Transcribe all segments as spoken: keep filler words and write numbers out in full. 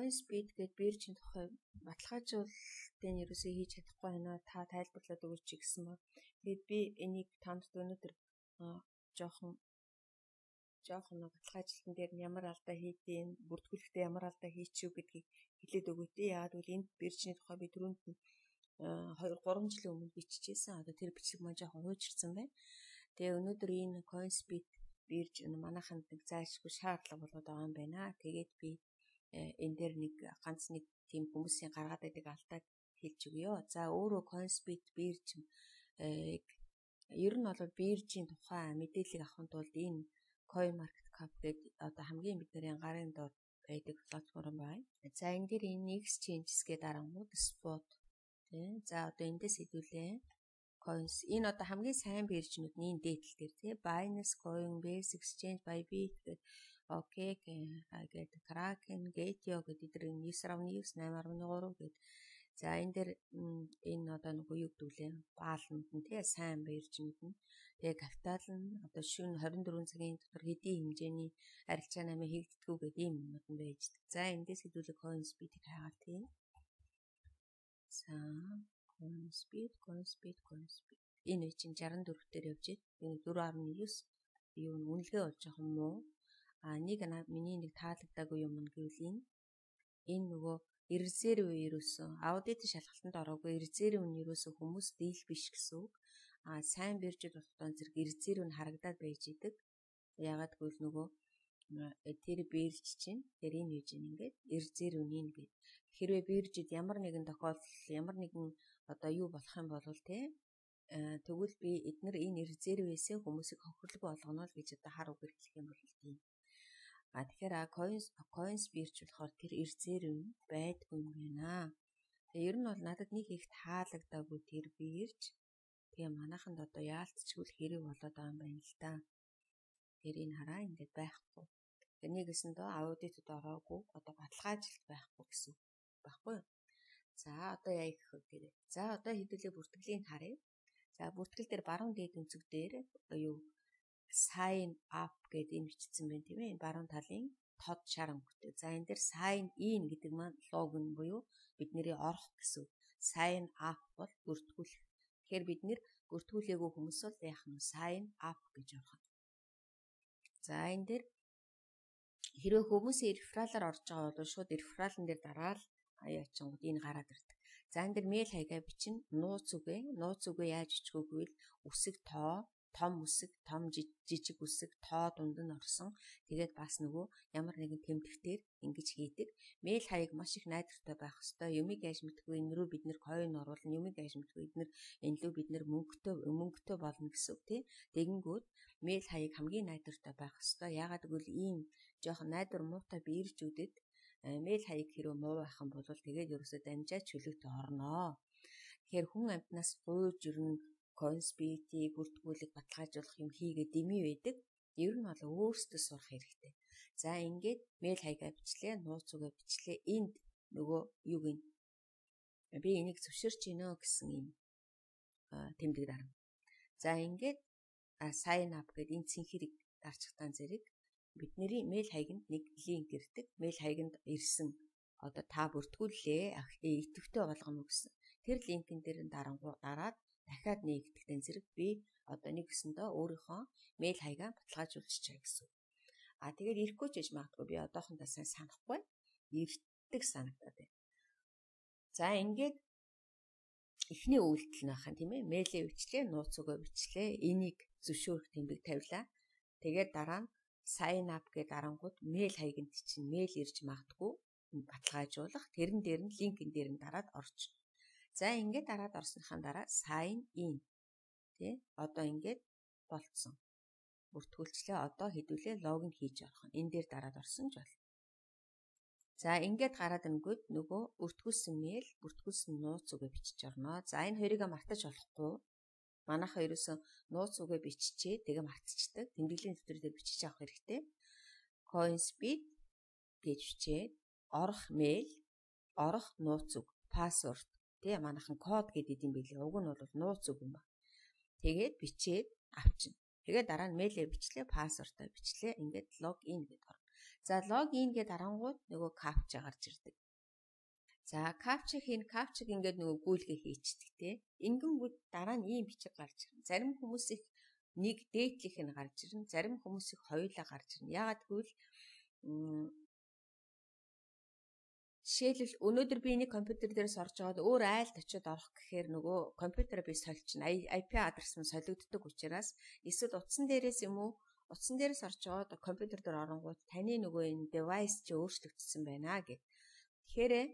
CoinSpeed гэдэг биржийн тухай баталгаажуулалтын ерөөсөө хийж чадахгүй байна. Та тайлбарлаад өгөөч гэсэн ба. Тэгээд би энийг танд өнөөдөр жоохон жоохон баталгаажлалтын дээр ямар алдаа хийдیں, бүртгүүлэхдээ ямар алдаа хийчихв гэдгийг хэлээд өгөөтэй. Яагаад гэвэл энэ биржийн тухай би түрүүнд нь хоёр гурван жилийн өмнө биччихсэн. Одоо тэр бичлэг маань жоохон хуучирсан байна. Тэгээ өнөөдөр энэ CoinSpeed бирж манайханд нэг зайлшгүй шаардлага болоод байгаа юм байна. Тэгээд би энэ дээр нэг ганц нэг тийм хүмүүсийн гаргаад байдаг алдааг хэлж өгье. За өөрөө CoinSpeed бирж ер нь бол биржийн тухай мэдээлэл авахын тулд энэ CoinMarketCap гэдэг одоо хамгийн бидний гарын дор байдаг платформ байна. За энэ дээр энэ exchanges гэдэг дарангууд spot тийм. За одоо эндээс хэдүүлээ coins энэ одоо хамгийн сайн биржнүүд нь энэ дээдл дээр тийм. Binance, Coinbase, Exchange, Bybit гэдэг окей гэдэг Kraken, Gate.io гэдэг эдгээр ньюс ньюс восемь три гэдэг. За энэ дээр энэ одоо нэг юу гэдүүлээ баалнууд нь тий сайн биржнүүд нь. Тэгээ капитал нь одоо шөнө хорин дөрвөн цагийн дотор хэдийн хэмжээний арилжаа намын хийгддэггүй гэдэг юм юмуд нь байждаг. За эндээс хэдүүлээ CoinSpeed-ийг хайгаад тий. За CoinSpeed, CoinSpeed, CoinSpeed. Энэ үе чинь шестьдесят четыре дээр явж байна. Энэ four point nine юу үнэлгээ болж байгаа юм уу? А нэг миний нэг таалагдаагүй юм нь гэвэл энэ энэ нөгөө резерв ерөөсөн аудит шалгалтанд ороогүй резерв нь ерөөсөн хүмүүс дийл биш гэсэн үг. А сайн биржид болохгүй зэрэг резерв нь харагдаад байж идэг. Ягаад гэвэл нөгөө тэр бирж чинь тэр энэ үеж ингээд резерв нь ингээд хэрвээ биржид ямар нэгэн тохиолдол ямар нэгэн одоо юу болох юм бол те тэгвэл би эдгээр энэ резервээсээ хүмүүсийг хохирлог болгоно л гэж одоо хар үгээр хэлэх юм бол тийм. А тэгэхээр coins coins бирж болохоор тэр резерв нь байдгүй юм байна. Тэгээ ер нь бол надад нэг их таалагдаагүй тэр бирж. Тэгээ манайханд одоо яалтчгүй хэрэг болоод байгаа юм байна л да. Тэр энэ хараа ингээд байхгүй. Тэгээ нэгэсэндээ аудитод ороогүй одоо баталгаажилт байхгүй гэсэн байхгүй юу? За одоо яа гэх вэ? За одоо хэдүүлээ бүртгэлийг харъя. За бүртгэл дээр баруун дээд өнцөг дээр юу sign up гэдэг энэ бичсэн байна тийм ээ. Энэ баруун талын тод шар өнгөтэй. За энэ дээр sign in гэдэг маань логин буюу бидний орох гэсэн. Sign up бол бүртгүүлэх. Тэгэхээр бид нэр бүртгүүлээгүй хүмүүс бол яах нь sign up гэж орох. За энэ дээр хэрвээ хүмүүсийн рефералаар орж байгаа бол шууд рефералн дээр дараал аяачингууд энэ гараад ирдэг. За энэ дээр мэйл хаягаа бичнэ. Нууц үгээ. Нууц үгээ яаж бичих вэ гэвэл үсэг тоо, том үсэг, том жижиг үсэг, тоо дунд нь орсон. Тэгээд бас нөгөө ямар нэгэн тэмдэгтээр ингэж хийдэг. Мэйл хаяг маш их найдвартай байх хэвээр. Юмыг яаж мэдгүй энэ рүү бид нэр койн оруулна. Юмыг яаж мэдгүй эднэр энэ лөө бид нэр мөнгөтэй мөнгөтэй болно гэсэн үг тий. Тэгэнгүүт мэйл хаяг хамгийн найдвартай байх хэвээр. Яагаад гэвэл ийм жоохон найдвар муутай биржүүдэд мэйл хаяг хэрэг муу байх юм бол тэгээд ерөөсөө дамжаад чөлөөтэй орноо. Тэгэхээр хүн амтнаас гуйж ирнэ CoinSpeed-ийг бүртгүүлэх баталгаажуулах юм хийгээд дэмий байдаг. Ер нь бол өөрсдөө сурах хэрэгтэй. За ингээд мэйл хаягаа бичлээ, нууц үгээ бичлээ. Энд нөгөө юуг нь би энийг зөвшөөрч гинөө гэсэн юм тэмдэг дарна. За ингээд sign up гэдэг энэ цэнхэрийг дарчихтаан зэрэг бидний мэйл хаягнд нэг линк ирдэг. Мэйл хаягнд ирсэн одоо та бүртгүүллээ идэвхтэй болгоно гэсэн. Тэр линкэн дээр дарангуу дараад дахиад нэгтгэдэгтэн зэрэг би одоо нэг гэсэндээ өөрийнхөө мэйл хаягаа баталгаажуулчихъя гэсэн. А тэгээд ирэхгүй ч гэж магадгүй би одоохондоо сайн санахгүй. Ирдэг санагдаад байна. За ингээд эхний үйлдэл нь ахын тийм ээ. Мэйлээ бичлээ, нууц үгээ бичлээ. Энийг зөвшөөрөх тэмдэг тавилаа. Тэгээд дараа нь sign up гэдэг дарангууд мэйл хаягнд чинь мэйл ирж магадгүй баталгаажуулах. Тэрэн дээр нь линкэн дээр нь дараад орч. За ингээд дараад орсныхаа дараа sign in тий одоо ингээд болцсон. Бүртгүүлчлээ одоо хэдүүлээ логин хийж орох. Энэ дээр дараад орсон ч бол. За ингээд гараад ирэнгүүт нөгөө бүртгүүлсэн мэйл, бүртгүүлсэн нууц үгээ бичиж орно. За энэ хоёрыг мартаж болохгүй. Манайхаа ерөөсөн нууц үгээ биччихээ тэгээ мартчихдаг. Тэмдэглэлийн дэвтэр дээр бичиж авах хэрэгтэй. CoinSpeed гэж бичээд орох мэйл, орох нууц үг, password тий манайхан код гэдэг юм билээ. Уг нь бол нууц үг юм ба. Тэгээд бичээд авчна. Тэгээд дараа нь мэйлээ бичлээ, пассвордоо бичлээ. Ингээд логин гэдэг орно. За логин гэдэг дарангууд нөгөө капча гарч ирдэг. За капча хийн капчиг ингээд нөгөө гүйлгээ хийчихдэг тий. Ингэнгүүт дараа нь ийм бичиг гарч ирнэ. Зарим хүмүүс их нэг дээдлих нь гарч ирнэ. Зарим хүмүүс их хоёулаа гарч ирнэ. Яагаад гэвэл жишээлбэл өнөөдөр би нэг компьютер дээрээс орж байгаад өөр айлд очиод орох гэхээр нөгөө компьютераа би сольчихно. ай пи адрес нь солигддог учраас эсвэл утсан дээрээс юм уу утсан дээрээс орж байгаад компьютер дээр оронгууд таны нөгөө энэ девайс чи өөрчлөгдсөн байна гэв. Тэгэхээр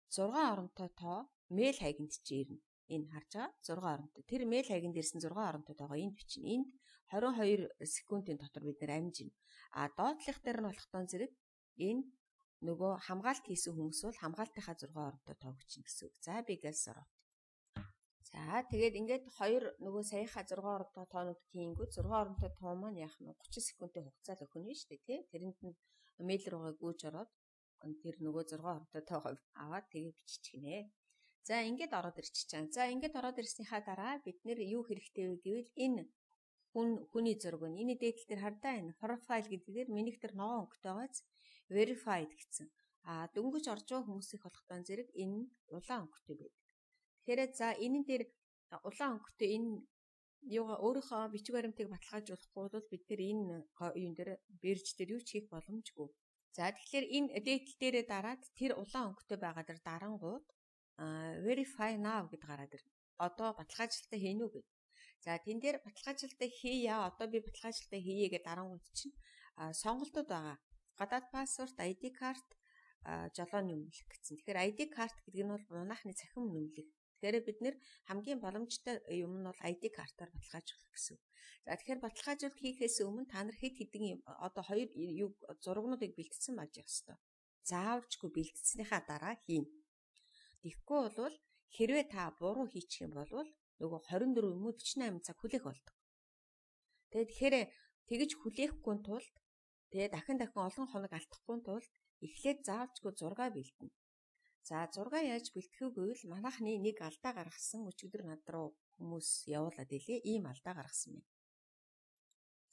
зургаан оронтой тоо мэйл хайганд чи ирнэ. Энэ харж байгаа зургаан оронтой. Тэр мэйл хайганд ирсэн зургаан оронтой тоогоо энд бичнэ. Энд двадцать two секундын дотор бид нэр амжина. А доотлих дээр нь болохтон зэрэг энэ нөгөө хамгаалт хийсэн хүмүүс бол хамгаалтынхаа зургаан оронтой тоо бичнэ гэсэн үг. За би гэлс ороо. За тэгээд ингээд хоёр нөгөө саяхаа зургаан оронтой тоонууд хийнгүүт зургаан оронтой тоо маань яах нь thirty секундын хугацаанд өхөн нь шүү дээ тий. Тэрэнд нь мэйл руугаа гүйж ороод тэр нөгөө зургаан оронтой тоогоо аваад тэгээ биччихнэ. За ингээд ороод ирчих чам. За ингээд ороод ирснийхаа дараа бид нэр юу хэрэгтэй вэ гэвэл энэ хүн хүний зураг нь энэ дээдл дээр хардаа энэ profile гэдгээр минийх тэр ногоон өнгөтэй байгааз verified гэсэн. А дөнгөж орж байгаа хүмүүсийн болохтон зэрэг энэ улаан өнгөтэй байдаг. Тэгэхээр за энэ дээр улаан өнгөтэй энэ юугаа өөрийнхөө бичиг баримтыг баталгаажуулахгүй бол бид тэр энэ юун дээр бирж дээр юу ч хийх боломжгүй. За тэгэхээр энэ дээдл дээрээ дараад тэр улаан өнгөтэй байгаа дэр дарангууд verify now гэд гараад ирнэ. Одоо баталгаажлалтаа хийнэ үү гэд. За тэн дээр баталгаажлалтаа хийя. Одоо би баталгаажлалтаа хийе гэдэг дарангууд чинь сонголтууд байгаа. Гадаад пассворд, ай ди карт, жолооны өмнөлөх гэсэн. Тэгэхээр ай ди карт гэдэг нь бол унаахны цахим нөмлөх. Тэгэхээр бид нэр хамгийн боломжтой юм нь бол ай ди картаар баталгаажуулах гэсэн. За тэгэхээр баталгаажуулалт хийхээс өмнө та нар хэд хэдэн одоо хоёр юу зурагнуудыг бэлтгэсэн байж явах ёстой. Заавалжгүй бэлтгэснийхаа дараа хийн. Тэгэхгүй бол хэрвээ та буруу хийчих юм бол нөгөө twenty-four юм уу forty-eight цаг хүлээх болдог. Тэгээд тэгэхээр тэгж хүлээхгүй тулд тэгээ дахин дахин олон хоног алдахгүй тулд эхлээд заавалжгүй зураг бэлтэнэ. За зураг яаж бэлтгэх вэ гэвэл манайхны нэг алдаа гаргасан өчигдөр над руу хүмүүс явуулаад илээ ийм алдаа гаргасан байна.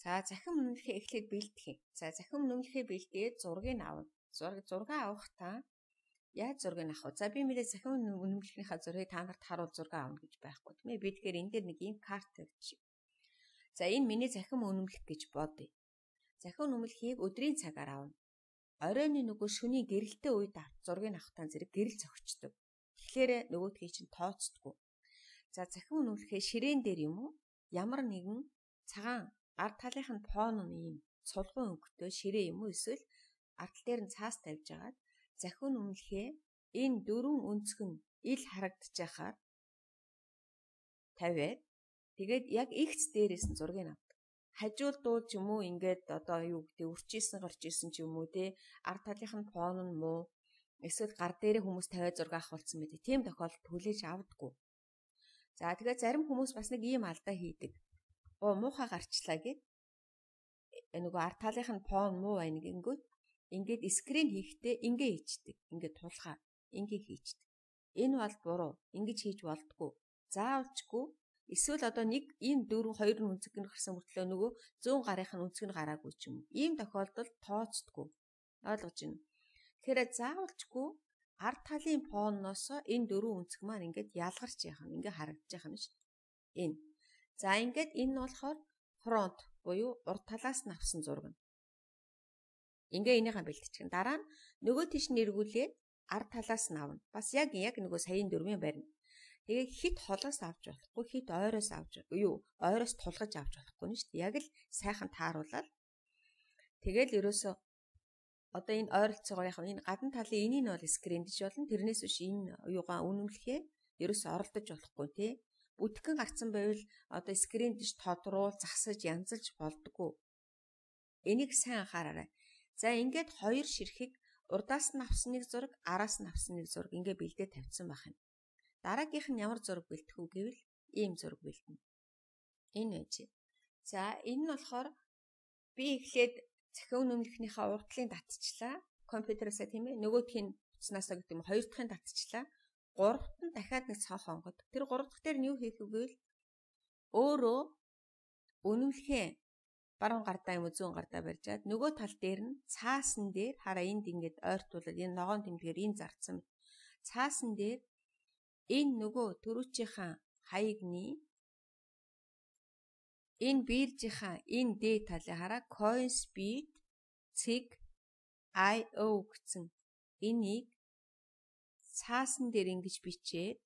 За захин өмнөхөө эхлээд бэлтгэх. За захин өмнөхөө бэлдээд зургийг авна. Зураг зураг авах та яаж зургийг авах вэ? За би мөрөө захин өмнөхийнхаа зургийг та нарт харуул зураг авна гэж байхгүй тийм ээ. Би тэгэхээр энэ дээр нэг ийм карт тавьчих. За энэ миний захин өмнөх гэж бодъё. Захин өмнөхийг өдрийн цагаар авна. Оройны нөгөө шөнийн гэрэлтэй үед зургийг авахтаа зэрэг гэрэл зөгчдөг. Тэгэхээр нөгөөдхий чинь тооцдгүй. За захин өмнөхөө ширээн дээр юм уу? Ямар нэгэн цагаан ард талынх нь фон нь ийм цулгуун өнгөтэй ширээ юм уу? Эсвэл ард тал дээр нь цаас тавьж агаад захин өмнөхөө энэ дөрвөн өнцг нь ил харагдаж байхаар тавиад тэгээд яг X дээрээс нь зургийг авдаг. Хажуул дуу ч юм уу ингээд одоо юу гэдэг үрчээсэн гарч исэн ч юм уу те ард талынх нь фон нь муу эсвэл гар дээрээ хүмүүс тавиад зураг авахулсан байдаг. Тийм тохиолдолд хүлээж авдаггүй. За тэгээд зарим хүмүүс бас нэг ийм алдаа хийдэг. Оо муухай гарчлаа гэд нөгөө ард талынх нь фон муу байна гингүүт ингээд скрин хийхдээ ингээ хийчдэг. Ингээ тулхаа ингээ хийчдэг. Энэ бол буруу. Ингэж хийж болдгоо. Заавалчгүй эсвэл одоо нэг ийм дөрвөн хоёр нь үнцэг нь гарсан мөртлөө нөгөө зүүн гарынх нь үнцэг нь гараагүй ч юм. Ийм тохиолдолд тооцдгүй. Ойлгож байна. Тэгэхээр заавалчгүй ард талын фоноос энэ дөрвөн үнцэг маань ингээд ялгарч яах нь ингээ харагдаж яах нь шүү дээ. Энэ. За ингээд энэ нь болохоор фронт буюу урд талаас нь авсан зураг нь. Ингээ энийхээ бэлтчихэн. Дараа нь нөгөө тийш нь эргүүлээд ард талаас нь авна. Бас яг яг нөгөө саяын дөрвийн барина. Тэгээ хит холоос авч болохгүй, хит ойроос авч юу, ойроос тулгаж авч болохгүй нь шүү дээ. Яг л сайхан тааруулаад. Тэгэл ерөөсөө одоо энэ ойролцоогоо яг энэ гадна талын энийг нь бол скриндж болно. Тэрнээс биш энэ юугаа үнэмлэхээ ерөөсөө оролдож болохгүй тий. Бүтгэн гарцсан байвал одоо скриндж тодруул, засаж, янзалж болдгоо. Энийг сайн анхаараарай. За ингээд хоёр ширхэг урдаас нь авсан нэг зураг, араас нь авсан нэг зураг ингээ бэлдээ тавьсан байх юм. Дараагийнх нь ямар зураг бэлтэх үү гэвэл ийм зураг бэлтэнэ. Энэ байж. За энэ нь болохоор би эхлээд захин өмнөхнийхээ урдлын татчихлаа. Компьютераасаа тийм ээ. Нөгөөх нь утаснасаа гэдэг юм хоёр дахьын татчихлаа. Гуравт нь дахиад нэг цонх онгод. Тэр гурав дахь дээр нь юу хийх вэ гэвэл өөрөө үнэмлэхээ баруун гардаа юм уу зүүн гардаа барьжаад нөгөө тал дээр нь цаасан дээр хараа энд ингээд ойртуулад энэ ногоон тэмдгээр энэ зарцсан. Цаасан дээр энэ нөгөө төрүүчийнхаа хаягны энэ биржийнхаа энэ дээд талыг хараа coin speed цэг ай о гэсэн энийг цаасан дээр ингэж бичээд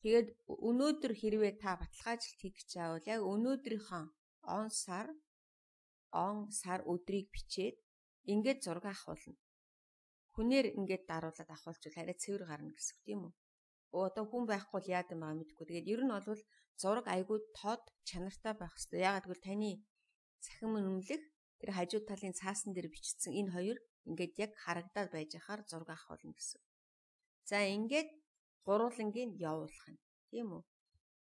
тэгээд өнөөдөр хэрвээ та баталгаажилт хийх гэж байвал яг өнөөдрийнхөө он сар он сар өдрийг бичээд ингээд зураг авахулна. Хүнээр ингээд даруулаад авахулчвал арай цэвэр гарна гэсэн үг тийм үү? Оо одоо хүн байхгүй л яад юм аа мэдгүй. Тэгээд ер нь бол зураг айгүй тод чанартай байх хэрэгтэй. Яагаад гэвэл таны цахим үнэмлэх тэр хажуу талын цаасан дээр бичсэн энэ хоёр ингээд яг харагдаад байж хахаар зураг авахулна гэсэн. За ингээд гурвангийн явуулах нь тийм үү?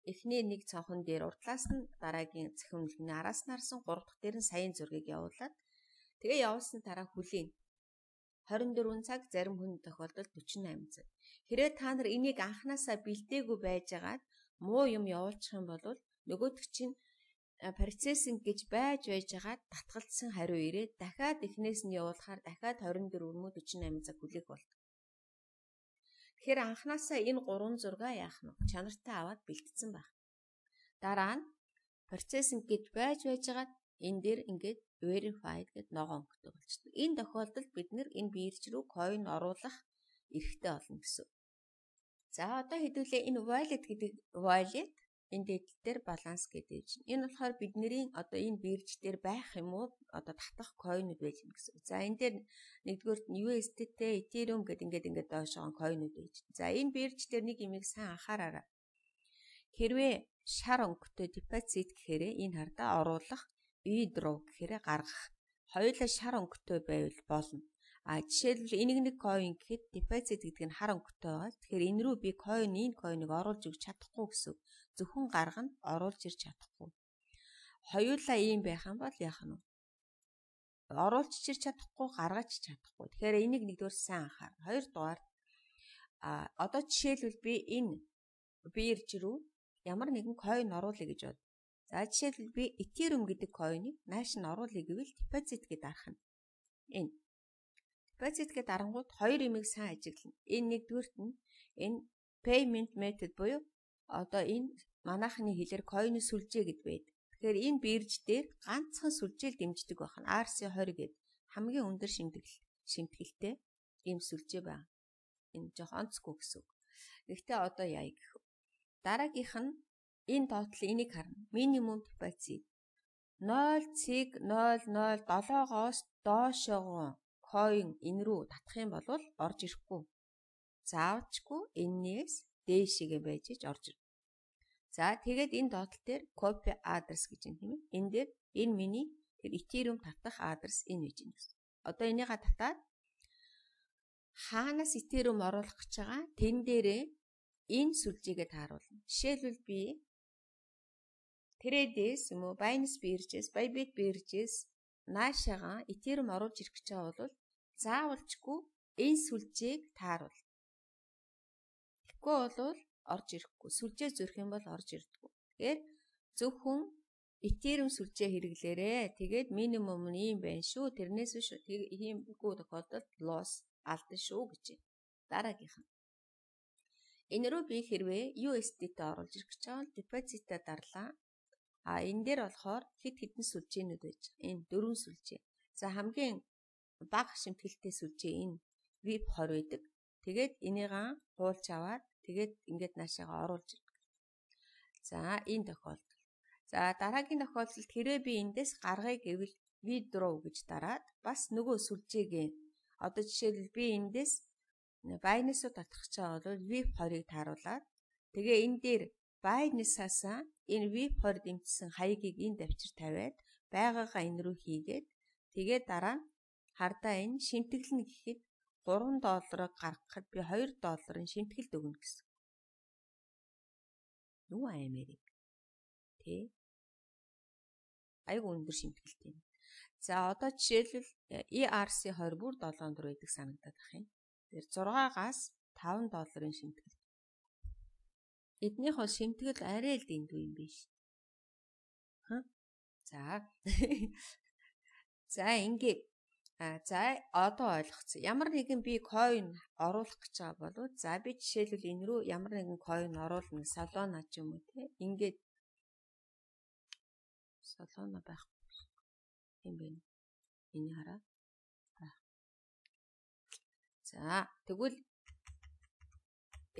Эхний нэг цонхон дээр урдлаас нь дараагийн цахим үнэлгэний араас нь харсан гурав дахь дээр нь саяын зургийг явуулаад тэгээ явуулсан дараа хүлээн хорин дөрвөн цаг зарим хүн тохиолдолд дөрвөн и восемь цаг. Хэрвээ та нар энийг анханасаа бэлдээгүй байжгаад муу юм явуулчих юм бол нөгөөдөг чинь процессинг гэж байж байжгаад татгалцсан хариу ирээд дахиад эхнээс нь явуулахаар дахиад хорин дөрвөн мөн дөрвөн и восемь цаг хүлээх болдог. Тэгэхээр анханасаа энэ гурван зургаа яах нь чанартай аваад бэлтцсэн байх. Дараа нь процессинг гэж байж байжгаад энэ дээр ингээд verified гэд ногоо өнгөтэй болчихдог. Энэ тохиолдолд бид нэр энэ бирж рүү coin оруулах эрхтэй болно гэсэн. За одоо хэдүүлээ энэ wallet гэдэг wallet энэ дэдэл дээр баланс гэдэг чинь. Энэ болохоор бидний одоо энэ бирж дээр байх юм уу одоо татах coinуд байж гэнэ гэсэн. За энэ дээр нэгдүгээрт нь ю эс ди тэ, Ethereum гэдэг ингээд ингээд доошоо coinуд байж. За энэ бирж дээр нэг юмыг сайн анхаараарай. Хэрвээ шар өнгөтэй депозит гэхээр энэ хардаа оруулах, withdraw гэхээр гаргах. Хоёулаа шар өнгөтэй байвал болно. А жишээлбэл энийг нэг coin гэхэд депозит гэдэг нь хар өнгөтэй байгаа. Тэгэхээр энэ рүү би coin энэ coin-ыг оруулж өгч чадахгүй гэсэн. Зөвхөн гаргана, оруулж ирч чадахгүй. Хоёулаа ийм байх юм бол яах нь вэ? Оруулж ирч чадахгүй, гаргаж чадахгүй. Тэгэхээр энийг нэгдүгээр сайн анхаар. Хоёрдугаар а одоо жишээлбэл би энэ бирж рүү ямар нэгэн coin оруулъя гэж бод. За жишээлбэл би Ethereum гэдэг coin-ыг нааш нь оруулъя гэвэл депозит гэдээ дарах нь. Энэ депозит гэдэг дарангууд хоёр юмыг сайн ажиглана. Энэ нэгдүгээрт нь энэ payment method буюу одоо энэ манайхны хэлээр coin сүлжээ гэд байдаг. Тэгэхээр энэ бирж дээр ганцхан сүлжээл дэмждэг байх нь ар си тwenty гэдэг хамгийн өндөр шимтгэл шимтгэлтэй ийм сүлжээ байна. Энэ жоох онцгүй гэсэн үг. Гэхдээ одоо яа гэх вэ? Дараагийнх нь энэ тоотлол энийг харна. Минимум депозит ноль цэг ноль ноль долоогоос доошоо coin энэ рүү татах юм бол орж ирэхгүй. Заавчгүй энээс дээшээгээ байж иж орж ирнэ. За тэгээд энэ доотлол дээр copy address гэж юм тийм ээ. Энэ дээр энэ миний тэр Ethereum татах адрес энэ гэж юм гэсэн. Одоо энийга татаад хаанаас Ethereum оруулах гэж байгаа тэн дээрээ энэ сүлжээгээ тааруулна. Жишээлбэл би Trades юм уу Binance биржээс, Bybit биржээс наашаага Ethereum оруулж ирэх гэж байгаа бол заавалчгүй энэ сүлжээг тааруул. Тэгэхгүй бол орж ирэхгүй. Сүлжээ зөрөх юм бол орж ирдэггүй. Тэгэхээр зөвхөн Ethereum сүлжээ хэрэглээрээ. Тэгээд минимум нь ийм байна шүү. Тэрнээс биш иймгүй тохиолдолд loss алдсан шүү гэж. Дараагийнх нь. Энэ рүү би хэрвээ ю эс ди тэ оруулж ирэх гэж байгаа бол депозитаа дарлаа. А энэ дээр болохоор хэд хэдэн сүлжээнүүд байж байгаа. Энэ дөрвөн сүлжээ. За хамгийн бага шимтгэлтэй сүлжээ энэ ви ай пи twenty байдаг. Тэгээд энийгээ хуулж аваад тэгээд ингээд наашаага оруулж ирнэ. За энэ тохиолдол. За дараагийн тохиолдолд хэрвээ би эндээс гаргая гэвэл withdraw гэж дараад бас нөгөө сүлжээгээ одоо жишээлбэл би эндээс Binance-д татах гэж байгаа бол ви ай пи twenty-ыг тааруулаад тэгээ энэ дээр Binance-аас энэ ви ай пи twenty дэмжсэн хаягийг энэ давчир тавиад байгаагаа энэ рүү хийгээд тэгээд дараа нь хардаа энэ шимтгэлнэ гэхэд three долларыг гаргахад би two долларын шимтгэлд өгнө гэсэн. Юу Америк тий айгу өндөр шимтгэлтэй юм. За одоо жишээлбэл и ар си twenty бүр seven доллар байдаг санагдаад байх юм. Тэр six-аас five долларын шимтгэл. Эднийх бол шимтгэл арай л дэндүү юм биш. Ха? За. За ингээ за одоо ойлгоцсон. Ямар нэгэн би coin оруулах гэж байгаа болов. За би жишээлбэл энэ рүү ямар нэгэн coin оруулна. Solana ч юм уу те. Ингээд Solana байх юм бэ. Энэ хараа. За тэгвэл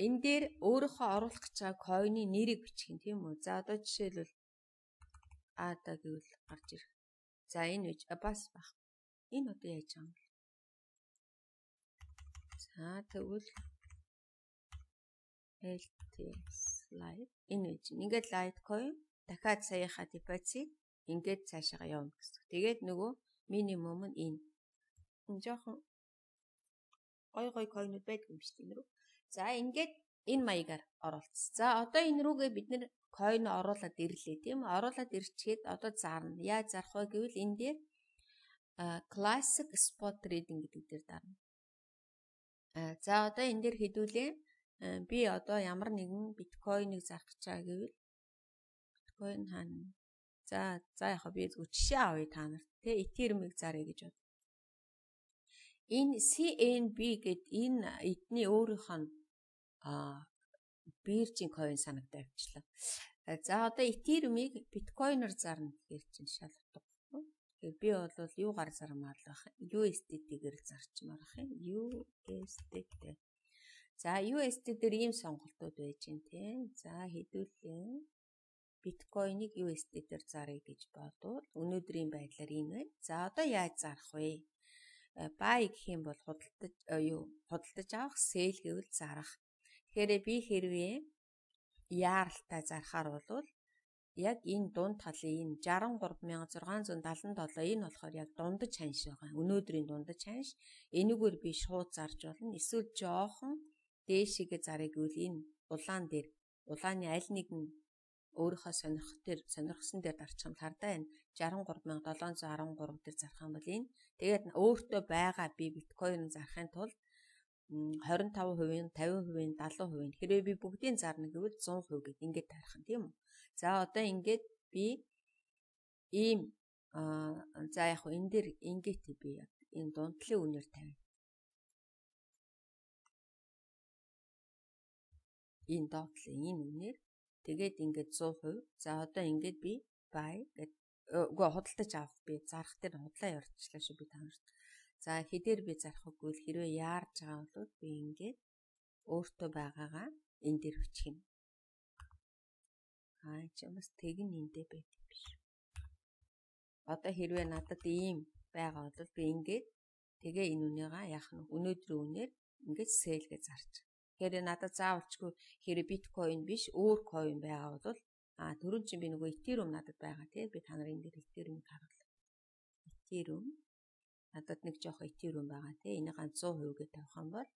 энэ дээр өөрийнхөө оруулах гэж байгаа coin-ы нэрийг бичих юм тийм үү? За одоо жишээлбэл ада гэвэл гарч ирэх. За энэ үж бас баг. Энэ одоо яаж байгаа юм бэ? За тэгвэл эл ти эс live энэ үж. Ингээд Litecoin дахиад саяхаа депозит ингээд цаашаа явна гэсэн. Тэгээд нөгөө минимум нь энэ. Энэ жоохон гой гой coin-ууд байдаг юм шүү дээ. За ингээд энэ маягаар оруулсан. За одоо энэ рүүгээ бид нэр coin оруулаад ирлээ тийм үү? Оруулаад ирчихэд одоо зарна. Яаж зарах вэ гэвэл энэ дээр classic spot trading гэдэг дээр дарна. За одоо энэ дээр хэдүүлээ би одоо ямар нэгэн биткойныг зарах гэж байгаа гэвэл биткойн хаана. За за яг би зөв жишээ авъя та нарт. Тэ Ethereum-ыг заръя гэж бод. Энэ си эн би гэд энэ эдний өөрийнх нь а биржийн coin санагдаа авчлаа. За одоо Ethereum-ыг биткойноор зарна гэхээр чинь шал утга. Тэгэхээр би бол юугаар зармаар л байх. ю эс ди ти-гээр зарчмаар байх юм. ю эс ди ти. За ю эс ди дээр ийм сонголтууд байж гэн тий. За хэдүүлээ биткойныг ю эс ди дээр заръя гэж бодвол өнөөдрийн байдлаар энэ байна. За одоо яаж зарах вэ? Buy гэх юм бол худалдаж юу худалдаж авах, sell гэвэл зарах. Тэгэхээр би хэрвээ яаралтай зарахаар бол яг энэ дунд талын энэ шестдесет и три мянга зургаан зуун даатан долоо энэ болохоор яг дундаж ханш байгаа. Өнөөдрийн дундаж ханш. Энэгээр би шууд зарж болно. Эсвэл жоохон дээшигээ заръя гэвэл энэ улаан дээр улааны аль нэгэн өөрийнхөө сонирхох дээр сонирхсан дээр дарчих юм хардаа энэ шестдесет и три мянга седем сто дөрвөн дээр зарах юм бол энэ тэгээд өөртөө байгаа би биткойн зарахын тулд двадцать пять процент, пятьдесят процент, семьдесят процент хэрвээ би бүгдийг зарна гэвэл сто процент гэд ингээд тарих нь тийм үү. За одоо ингээд би ийм за яг хөө энэ дээр ингээд би яг энэ дундлын үнээр тавина. Энэ доотлын энэ үнээр тэгээд ингээд сто процент. За одоо ингээд би buy гэд үгүй худалдаж авах би зарах дээр худлаа ярьчлаа шүү би танарт. За хэдээр би зарах үгүй хэрвээ яарж байгаа бол би ингээд өөртөө байгаагаа энэ дээр бичих юм. Аа чи бас тэгин эндээ байдаг биш. Одоо хэрвээ надад ийм байгаа бол би ингээд тэгээ энэ үнийгаа яах нь өнөөдрийн үнээр ингээд sell гэж зарч. Тэгэхээр надад заавалчгүй хэрэг биткойн биш өөр coin байгаа бол а түрүүн чинь би нөгөө Ethereum надад байгаа тий би та нарын дээр Ethereum-ыг харуулъя. Ethereum надад нэг жоох Ethereum байгаа тий энийг ганц сто процент гэж тавих юм бол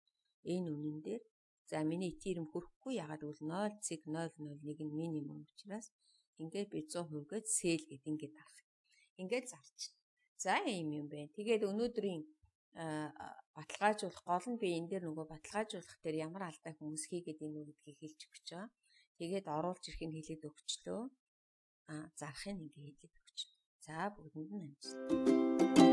энэ үнэн дээр за миний Ethereum хүрэхгүй ягаад гэвэл ноль цэг ноль ноль нэг нь минимум учраас ингээд би сто процент гэж sell гэд ингээд дарах. Ингээд зарч. За ийм юм байна. Тэгээд өнөөдрийн баталгаажуулах гол нь би энэ дээр нөгөө баталгаажуулах дээр ямар алдаа хүмүүс хийгээд ийнү гэдгийг хэлж өгч байгаа. Тэгээд оруулж ирэхийг хэлээд өгчлөө. А зарахыг ингээ хэлээд өгч. За бүгдэнд нь амжилт.